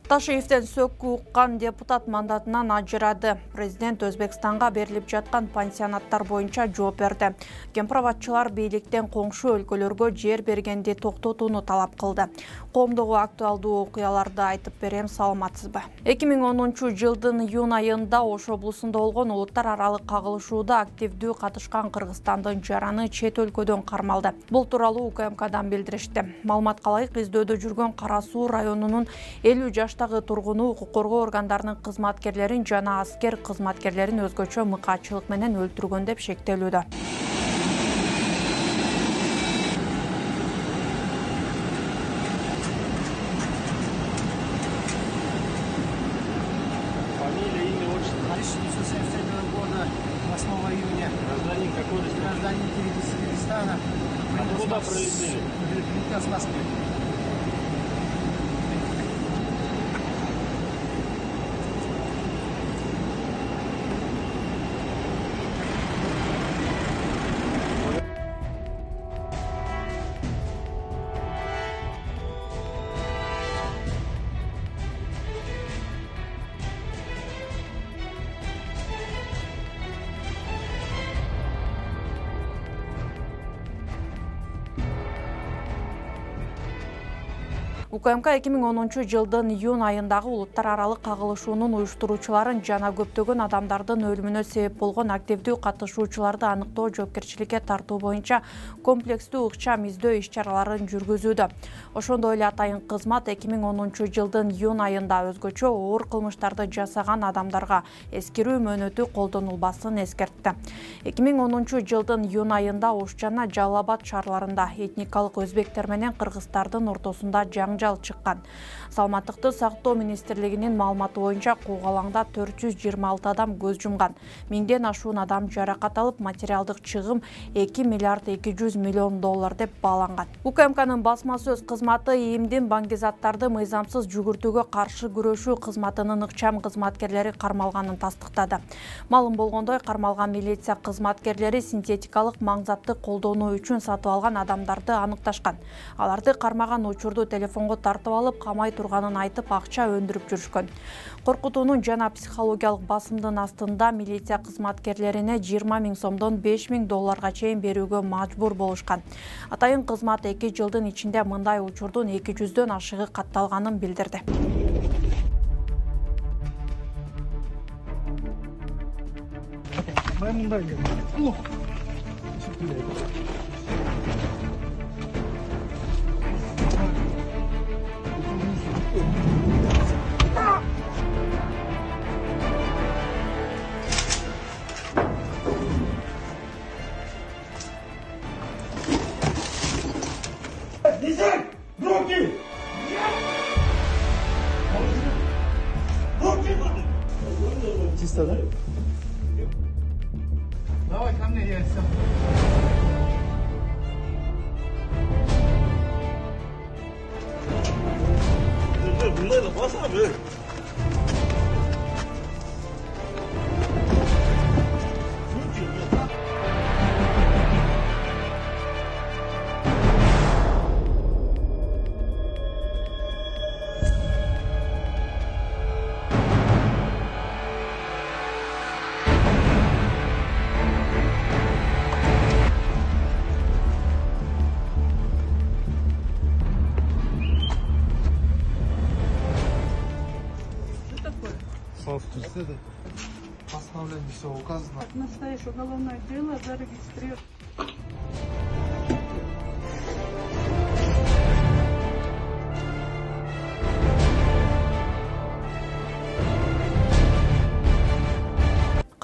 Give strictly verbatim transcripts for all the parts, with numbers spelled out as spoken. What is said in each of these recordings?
Ташиевден сөккү уккан депутат мандатынан ажырады. Президент Өзбекстанга берилип жаткан пансионаттар боюнча жооп берди. Кемпир-абадчылар бийликтен коңшу өлкөлөргө жер бергенди токтотууну талап кылды. Коомдогу актуалдуу окуяларды айтып берем, саламатсызбы? эки миң онунчу жылдын июнь айында Ош облусунда болгон улуттар аралык кагылышууда активдүү катышкан Кыргызстандын жараны чет өлкөдөн кармалды. Бул тууралуу УКМКдан билдиришти. Маалыматка ылайык, издөөдө жүргөн Кара Суу районунун элүү жаштагы тургуну укук коргоо органдарынын кызматкерлерин жана аскер кызматкерлерин өзгөчө мыкаатчылык менен өлтүргөн деп шектелүүдө. восьмого июня. Гражданин какой? Гражданин Киргизстана. Откуда прилетели? Прилетел с Москвы. УКМК эки миң онунчу жылдын июнь айындагы улуттар аралык кагылышуунун уюштуруучуларын жана көптөгөн адамдардын өлүмүнө себеп болгон активдүү катышуучуларды аныктоо, жоопкерчиликке тартуу боюнча комплекстүү ыкчам издөө иш-чараларын жүргүзүүдө. Ошондой эле атайын кызмат эки миң онунчу жылдын июнь айында өзгөчө оор кылмыштарды жасаган адамдарга эскирүү мөөнөтү колдонулбасын эскертти. эки миң онунчу жылдын июнь айында Ош жана Жалал Абад шаарларында этникалык өзбектер менен кыргыздардын ортосунда жаңжал чыккан. Саламаттыкты сактоо министрлигинин маалыматы боюнча куугалаңда төрт жүз жыйырма алты адам көз жумган. Миңден ашуун адам жаракат алып, материалдык чыгым эки миллиард эки жүз миллион доллар деп бааланган. УКМКнын басма сөз кызматы ИИМдин баңгизаттарды мыйзамсыз жүгүртүүгө каршы күрөшүү кызматынын ыкчам кызматкерлери кармалганын тастыктады. Маалым болгондой, кармалган милиция кызматкерлери синтетикалык маңзатты колдонуу үчүн сатып алган адамдарды аныкташкан. Аларды кармаган учурду телефонго тартып алып, камай турганын айтып, акча өндүрүп жүрүшкөн. Коркутуунун жана психологиялык басымдын астында милиция кызматкерлерине жыйырма миң сомдон беш миң долларга чейин берүүгө мажбур болушкан. Атайын кызмат эки жылдын ичинде мындай учурдун эки жүздөн ашыгы катталганын билдирди. Руки! Руки! Чисто, да? Давай ко мне, я все. Bunlarla bas abi. Постановление все указано. Как настоящее уголовное дело зарегистрировано.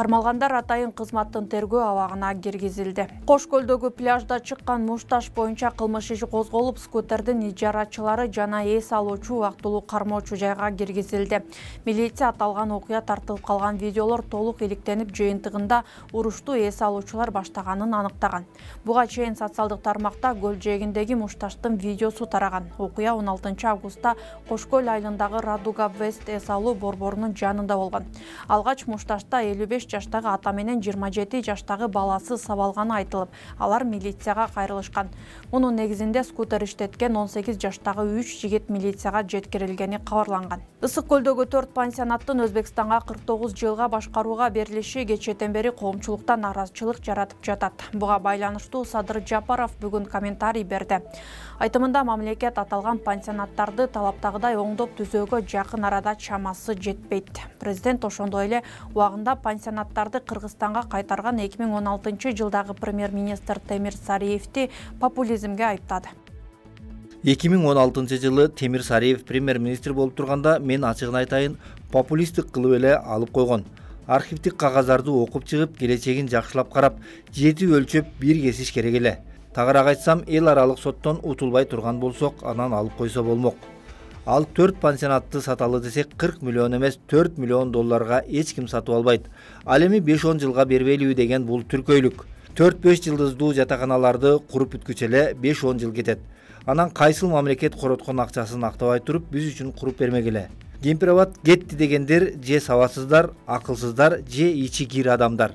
Кармалгандар атайын кызматтын тергөө абагына киргизилди. Кош көлдөгү пляжда чыккан мушташ боюнча кылмыш иши козголуп, скутердин ижарачылары жана эс алуучу убактылуу кармоочу жайга киргизилди. Милиция аталган окуя тартылып калган видеолор толук иликтенип, жыйынтыгында урушту эс алуучулар баштаганын аныктаган. Буга чейин социалдык тармакта көл жээгиндеги мушташтын видеосу тараган. Окуя он алтынчы августта Кош көл айылындагы Радуга Вест эс алуу борборунун жанында болгон. Алгач мушташта элүү беш жаштагы ата менен жыйырма жети жаштагы баласы сабалганы айтылып, алар милицияга кайрылышкан. Мунун негизинде скутер иштеткен он сегиз жаштагы үч жигит милицияга жеткирилгени кабарланган. Ысык көлдөгү төрт пансионаттын Өзбекстанга кырк тогуз жылга башкарууга берилиши кечээден бери коомчулукта наразычылык жаратып жатат. Буга байланыштуу Садыр Жапаров бүгүн комментарий берди. Айтымында мамлекет аталган пансионаттарды талаптагыдай оңдоп түзөөгө жакын арада чамасы жетпейт. Президент ошондой эле убагында пансионаттарды Кыргызстанга кайтарган эки миң он алтынчы жылдагы премьер-министр Темир Сариевди популизмге айыптады. эки миң он алтынчы жылы Темир Сариев премьер-министр болуп турганда мен ачыгын айтайын, популисттик кылып эле алып койгон. Архивдик кагаздарды окуп чыгып, келечегин жакшылап карап, жети өлчөп бир кесиш керек эле. Тагыраак айтсам, эл аралык соттон утулбай турган болсок, анан алып койсо болмок. Ал төрт пансионатты саталы десек, кырк миллион эмес, төрт миллион долларга эч ким сатып албайт. Ал эми беш он жылга бербейлиби деген бул түркөйлүк. төрт беш жылдыздуу жатаканаларды куруп бүткүчө эле беш он жыл кетет. Анан кайсыл мамлекет короткон акчасын актабай туруп, биз үчүн куруп бермек эле. Кемпир-абад кетти дегендер же сабатсыздар, акылсыздар, же ичи кир адамдар.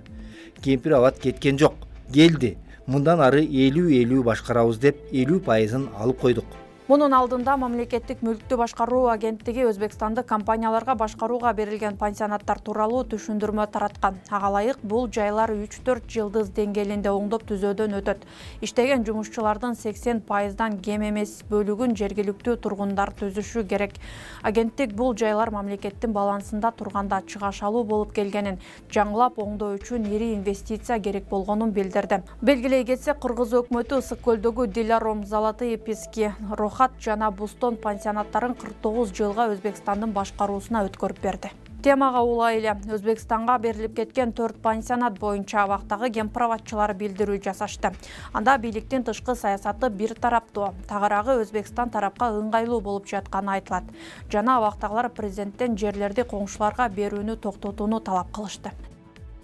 Кемпир-абад кеткен жок, келди. Мындан ары элүү элүү башкарабыз деп элүү пайызын алып койдук. Мунун алдында мамлекеттик мүлктү башкаруу агенттиги Өзбекстандык компанияларга башкарууга берилген пансионаттар тууралуу түшүндүрмө тараткан. Ага ылайык бул жайлар үч төрт жылдыз деңгээлинде оңдоп түзөөдөн өтөт. Иштеген жумушчулардын сексен пайыздан кем эмес бөлүгүн жергиликтүү тургундар түзүшү керек. Агенттик бул жайлар мамлекеттин балансында турганда чыгашалуу болуп келгенин, жаңылап оңдоо үчүн ири инвестиция керек болгонун билдирди. Белгилей кетсек, Кыргыз өкмөтү Ысык көлдөгү Диларом, Золотые Пески, Рохат жана Бустон пансионаттарын кырк тогуз жылга Өзбекстандын башкаруусуна өткөрүп берди. Темага улай эле Өзбекстанга берилип кеткен төрт пансионат боюнча абактагы кемпир-абадчылар билдирүү жасашты. Анда бийликтин тышкы саясаты бир тараптуу, тагыраагы Өзбекстан тарапка ыңгайлуу болуп жатканы айтылат. Жана абактагылар президенттен жерлерди коңшуларга берүүнү токтотууну талап кылышты.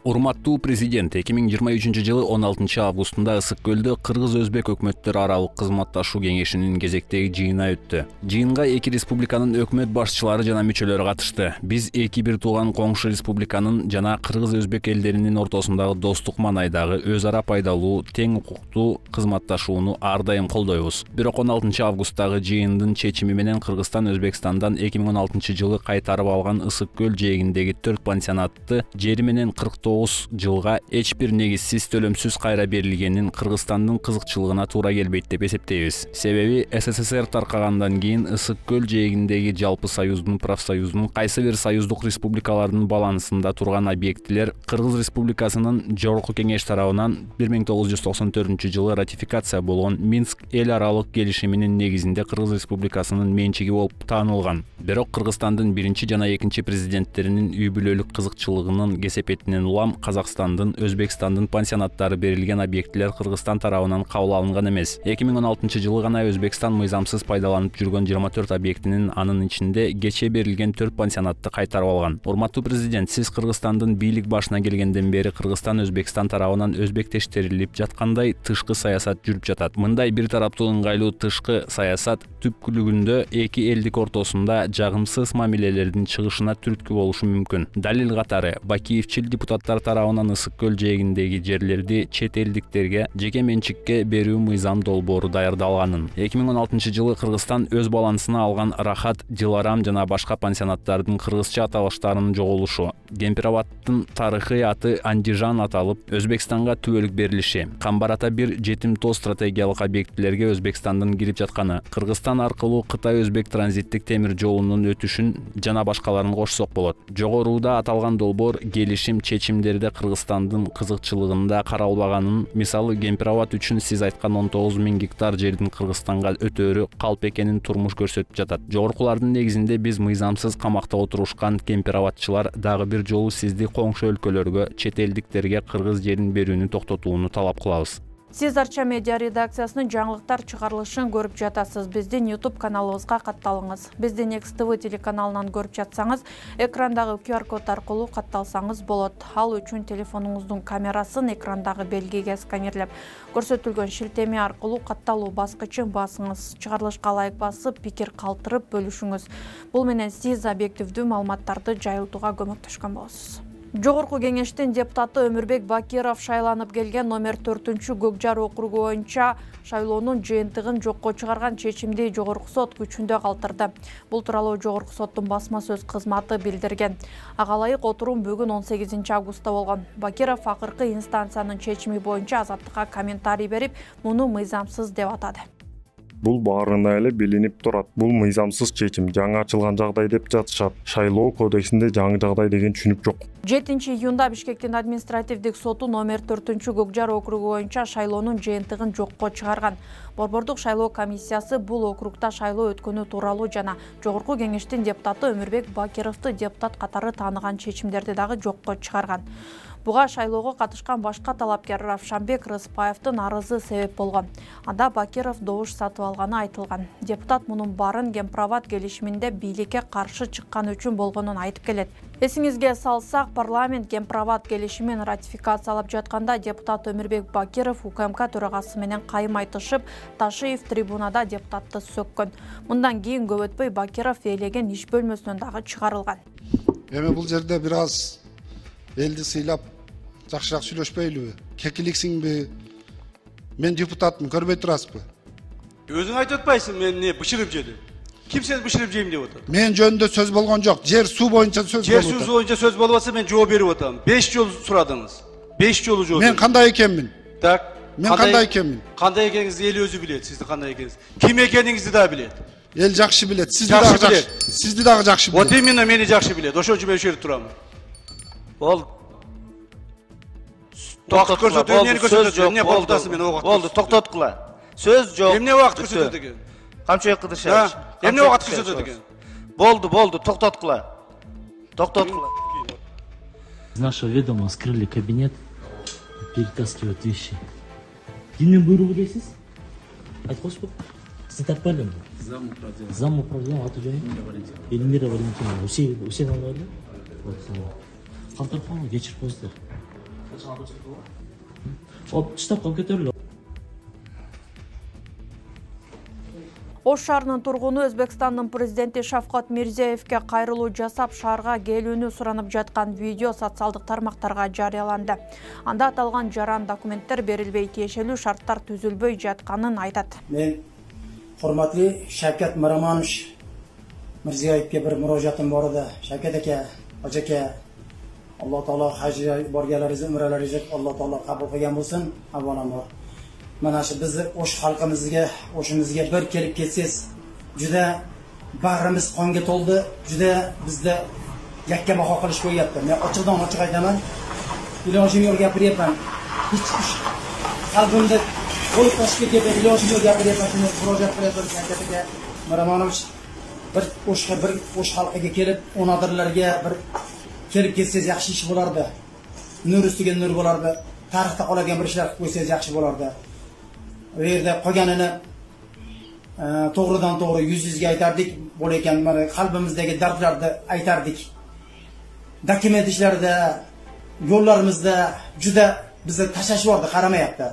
Урматтуу президент, эки миң жыйырма үчүнчү жылы он алтынчы августунда Ысык көлдө Кыргыз-Өзбек өкмөттөр аралык кызматташуу кеңешинин кезектеги жыйыны өттү. Жыйынга эки республиканын өкмөт башчылары жана мүчөлөрү катышты. Биз эки бир тууган коңшу республиканын жана Кыргыз-Өзбек элдеринин ортосундагы достук маанайдагы өз ара пайдалуу, тең укуктуу кызматташууну ар дайым колдойбуз. Бирок он алтынчы августтагы жыйындын чечими менен Кыргызстан Өзбекстандан эки миң он алтынчы жылы кайтарып алган Ысык көл жээгиндеги төрт пансионатты жери менен кырк тогуз жылга эч бир негизсиз төлөмсүз кайра берилгенин Кыргызстандын кызыкчылыгына туура келбейт деп эсептейбиз. Себеби СССР таркагандан кийин Ысык көл жээгиндеги жалпы союздун профсоюздун кайсы бир союздук республикалардын балансында турган объектилер Кыргыз Республикасынын Жогорку кеңеш тарабынан бир миң тогуз жүз токсон төртүнчү жылы ратификация болгон Минск эл аралык келишиминин негизинде Кыргыз Республикасынын менчиги болуп таанылган. Бирок Кыргызстандын биринчи жана экинчи президенттеринин үй бүлөлүк кызыкчылыгынын кесепетинен улам Казакстандын, Өзбекстандын пансионаттары берилген объектилер Кыргызстан тарабынан кабыл алынган эмес. эки миң он алтынчы жылы гана Өзбекстан мыйзамсыз пайдаланып жүргөн жыйырма төрт объектинин анын ичинде кечээ берилген төрт пансионатты кайтарып алган. Урматтуу президент, сиз Кыргызстандын бийлик башына келгенден бери Кыргызстан Өзбекстан тарабынан өзбектештирилип жаткандай тышкы саясат жүрүп жатат. Мындай бир тараптуу ыңгайлуу тышкы саясат түпкүлүгүндө эки элдик ортосунда жагымсыз мамилелердин чыгышына түрткү болушу мүмкүн. Далил катары, Бакиевчил депутаттар тарабынан Ысык көл жээгиндеги жерлерди чет элдиктерге жеке менчикке берүү мыйзам долбоору даярдалганын. эки миң он алтынчы жылы Кыргызстан өз балансына алган Рахат, Диларам жана башка пансионаттардын кыргызча аталыштарынын жоголушу, Кемпир-абадтын тарыхый аты Андижан аталып, Өзбекстанга түбөлүк берилиши, Камбар ата бир жетим тоо стратегиялык объектилерге Өзбекстандын кирип жатканы, Кыргызстан аркылуу Кытай-Өзбек транзиттик темир жолунун өтүшүн жана башкаларын кошсок болот. Жогоруда аталган долбоор келишим чечимдерде Кыргызстандын кызыкчылыгында каралбаганын, мисалы Кемпир-абад үчүн сиз айткан он тогуз миң гектар жердин Кыргызстанга өтөөрү калп экенин турмуш көрсөтүп жатат. Жогоркулардын негизинде биз мыйзамсыз камакта отурушкан кемпир-абадчылар дагы бир жолу сизди коңшу өлкөлөргө, чет элдиктерге кыргыз жерин берүүнү токтотууну талап кылабыз. Сиз Арча медиа редакциясынын жаңылыктар чыгарылышын көрүп жатасыз. Биздин YouTube каналыбызга катталыңыз. Биздин Next ти ви телеканалынан көрүп жатсаңыз, экрандагы ку ар код аркылуу катталсаңыз болот. Ал үчүн телефонуңуздун камерасын экрандагы белгиге сканерлеп, көрсөтүлгөн шилтеме аркылуу катталуу баскычын басыңыз. Чыгарылышка лайк басып, пикир калтырып бөлүшүңүз. Бул менен сиз объективдүү маалыматтарды жайылтууга көмөктөшкөн болосуз. Жогорку кеңештин депутаты Өмүрбек Бакиров шайланып келген номер төртүнчү Көкжар округу боюнча шайлоонун жыйынтыгын жокко чыгарган чечимди Жогорку сот күчүндө калтырды. Бул тууралуу Жогорку соттун басма сөз кызматы билдирген. Ага ылайык отурум бүгүн он сегизинчи августта болгон. Бакиров акыркы инстанциянын чечими боюнча азаттыкка комментарий берип, муну мыйзамсыз деп атады. Бул баарына эле билинип турат. Бул мыйзамсыз чечим, жаңы ачылган жагдай деп жатышат. Шайлоо кодексинде жаңы жагдай деген түшүнүк жок. жетинчи июнда Бишкектин административдик соту номер төртүнчү Көкжар округу боюнча шайлоонун жыйынтыгын жокко чыгарган. Борбордук шайлоо комиссиясы бул округда шайлоо өткөнү тууралуу жана Жогорку кеңештин депутаты Өмүрбек Бакировду депутат катары тааныган чечимдерди дагы жокко чыгарган. Буга шайлоого катышкан башка талапкер Равшанбек Рыспаевдин арызы себеп болгон. Анда Бакиров добуш сатып алганы айтылган. Депутат мунун баарын Гемпроват келишиминде бийликке каршы чыккан үчүн болгонун айтып келет. Эсиңизге салсак, парламент Гемпроват келишимин ратификациялап жатканда депутат Өмүрбек Бакиров УКМК төрагасы менен кайым айтышып, Ташиев трибунада депутатты сөккөн. Мындан кийин көп өтпөй Бакиров ээлеген иш бөлмөсүнөн дагы чыгарылган. Эми бул жерде бир аз элди сыйлап жакшыраак сүйлөшпөйлүбү? Кекиликсиңби? Мен депутатмын, көрбөй турасызбы? Өзүң айтып атпайсың, мен не бышырып жедим. Ким сени бышырып жейм деп атат? Мен жөнүндө сөз болгон жок. Жер суу боюнча сөз болуп Жер атат. суу боюнча сөз болуп атса, мен жооп берип атам. беш жолу сурадыңыз. беш жолу жооп. Мен кандай экенмин? Так. Мен кандай экенмин? Кандай экениңизди эл өзү билет, сиздин кандай экениңизди. Ким экениңизди да билет. Эл жакшы билет. Сизди дагы жакшы. Сизди дагы жакшы билет. Вот именно мени жакшы билет. Ошон үчүн мен ошол жерде турам. Бол. Токтот көрсөтүү, эмнени көрсөтөт? Эмне болду? Мен убакыт. Болду, токтоткула. Сөз жок. Эмне убакыт көрсөтөт экен? Камчы Кыдыршевич. Эмне убакыт көрсөтөт экен? Болду, болду, токтоткула. Токтоткула. Из нашего ведома скрыли кабинет, перетаскивают вещи. Кимдин буйругу дейсиз? Айтып коюшпу? Сиз таппайбы? Зам управления. Зам управления аты жөнү? Эльмира Валентиновна. Усе усе аларды? Вот. Калтырып калган, кечирип коюңуздар. Оп, штабка көтөрүлүп. Ош шаарынын тургуну Өзбекстандын президенти Шавкат Мирзиевке кайрылуу жасап, шаарга келүүнү суранып жаткан видео социалдык тармактарга жарыяланды. Анда аталган жаран документтер берилбей, тиешелүү шарттар түзүлбөй жатканын айтат. Мен урматтуу Шавкат Миромонович Мирзиевке бир мурожатым бар эди. Шавкат ака, ажака, Алла Таала хажга борганларыңызды, умраларыңызды Алла Таала кабыл кылган болсун. Аввалама mana shu bizni Osh xalqimizga, Oshimizga bir kelib ketsangiz, juda bag'rimiz qonga to'ldi, juda bizda yakka baho qilish qo'yyapti. Men ochiqdan ochiq aytaman, ilojim yo'q gapiryapman. Hech qalbimda qo'y toshib ketgan ilojim yo'q gapiryapman. Shuni murojaat qilyapman Shavkatga Miramonovich. Bir Oshga bir Osh xalqiga kelib, onadirlarga bir kelib ketsangiz yaxshi ish bo'lardi. Nur ustiga nur bo'lardi. Tarixda qoladigan bir ishlar qilib qo'ysangiz yaxshi bo'lardi. Bu yerda qolganini to'g'ridan to'g'ri yuz yuzga aytardik, bo'lekan mana qalbimizdagi dardlarni aytardik. Dokument ishlarida, yo'llarimizda juda bizni tashlashvordi, qaramayapti.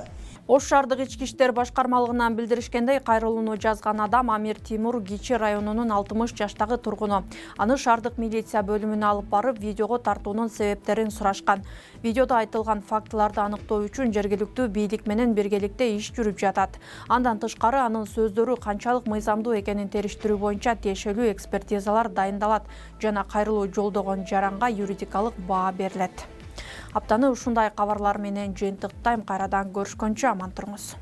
Ош шаардык ички иштер башкармалыгынан билдиришкендей, кайрылууну жазган адам Амир Тимур Кичи районунун алтымыш жаштагы тургуну. Аны шаардык милиция бөлүмүнө алып барып, видеого тартуунун себептерин сурашкан. Видеодо айтылган фактыларды аныктоо үчүн жергиликтүү бийлик менен биргеликте иш жүрүп жатат. Андан тышкары анын сөздөрү канчалык мыйзамдуу экенин териштирүү боюнча тиешелүү экспертизалар дайындалат жана кайрылуу жолдогон жаранга юридикалык баа берилет. Аптаны ушундай кабарлар менен жыйынтыктайм. Кайрадан көрүшкөнчө аман туруңуз.